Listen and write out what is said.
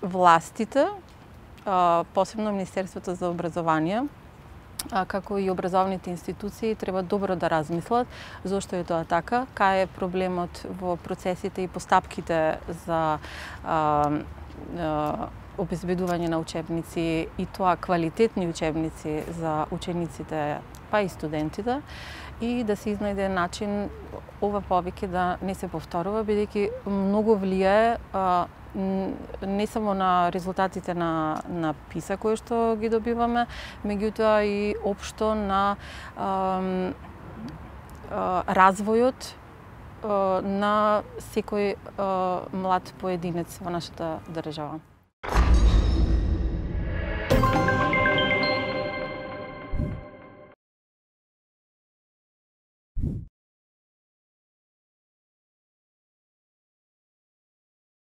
властите, посебно Министерството за образование, како и образовните институции треба добро да размислат зошто е тоа така, кај е проблемот во процесите и постапките за обезбедување на учебници и тоа квалитетни учебници за учениците па и студентите и да се изнајде начин ова повеќе да не се повторува, бидејќи многу влијае не само на резултатите на ПИСА кои што ги добиваме, меѓутоа и општо на развојот на секој млад поединец во нашата држава.